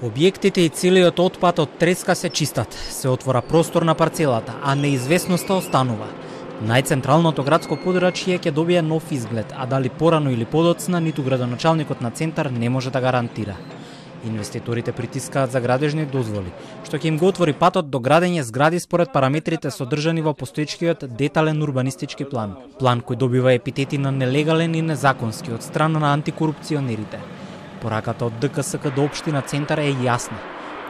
Објектите и целиот отпад од треска се чистат, се отвора простор на парцелата, а неизвестноста останува. Најцентралното градско подрачје ќе добие нов изглед, а дали порано или подоцна, ниту градоначалникот на центар не може да гарантира. Инвеститорите притискаат за градежни дозволи, што ќе им го отвори патот до градење згради според параметрите содржани во постоечкиот детален урбанистички план. План кој добива епитети на нелегален и незаконски од страна на антикорупционерите. Пораката од ДКСК до општина Центар е јасна.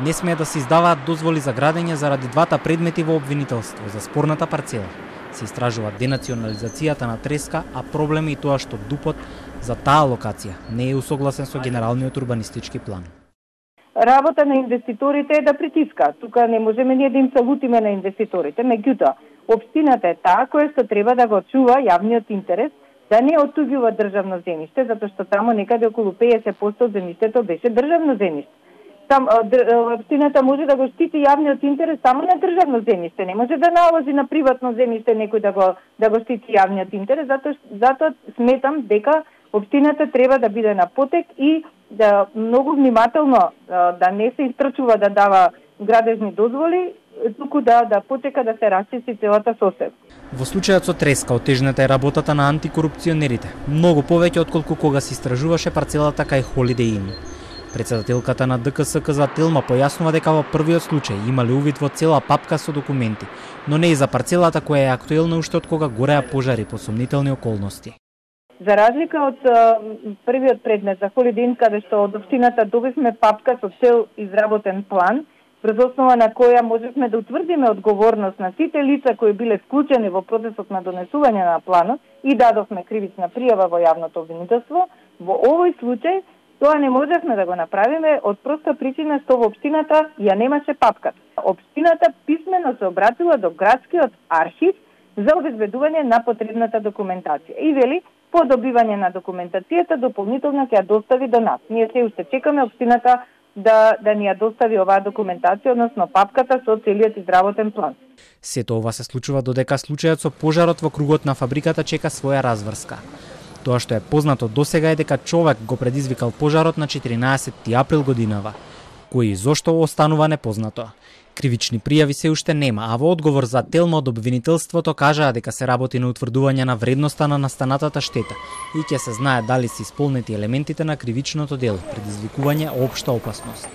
Не смее да се издаваат дозволи за градење заради двата предмети во обвинителство за спорната парцела. Се истражува денационализацијата на треска, а проблем е и тоа што ДУП-от за таа локација не е усогласен со генералниот урбанистички план. Работа на инвеститорите е да притискаат. Тука не можеме ние да им се лутиме на инвеститорите. Меѓутоа, општината е таа која што треба да го чува јавниот интерес, да не оттуѓува државно земјиште, затоа што таму некаде околу 50% од земјиштето беше државно земјиште. Там општината може да го штити јавниот интерес само на државно земјиште, не може да наложи на приватно земјиште некој да го штити јавниот интерес, затоа сметам дека општината треба да биде на потек и да многу внимателно да не се истрчува да дава градежни дозволи, туку да почека да се расчисти целата сосед. Во случајот со треска отежната е работата на антикорупционерите, многу повеќе отколку кога се истражуваше парцелата кај Holiday Inn. Председателката на ДКСК за Телма појаснува дека во првиот случај имале увид во цела папка со документи, но не и за парцелата која е актуелна уште од кога гореа пожари по сомнителни околности. За разлика од првиот предмет за Holiday Inn, каде што од општината добивме папка со цел изработен план, врз основа на која можевме да утврдиме одговорност на сите лица кои биле вклучени во процесот на донесување на планот и дадовме кривична пријава во јавното обвинителство, во овој случај тоа не можевме да го направиме од проста причина што во општината ја немаше папката. Општината писмено се обратила до градскиот архив за обезбедување на потребната документација и вели по добивање на документацијата дополнително ќе ја достави до нас. Ние се уште чекаме општината да ни ја достави оваа документација, односно папката со целиот изработен план. Сето ова се случува додека случајот со пожарот во кругот на фабриката чека своја разврска. Тоа што е познато досега е дека човек го предизвикал пожарот на 14 април годинава, кој и зошто останува непознато. Кривични пријави се уште нема, а во одговор за Телма од обвинителството кажаа дека се работи на утврдување на вредноста на настанатата штета и ќе се знае дали се исполнети елементите на кривичното дело, предизвикување општа опасност.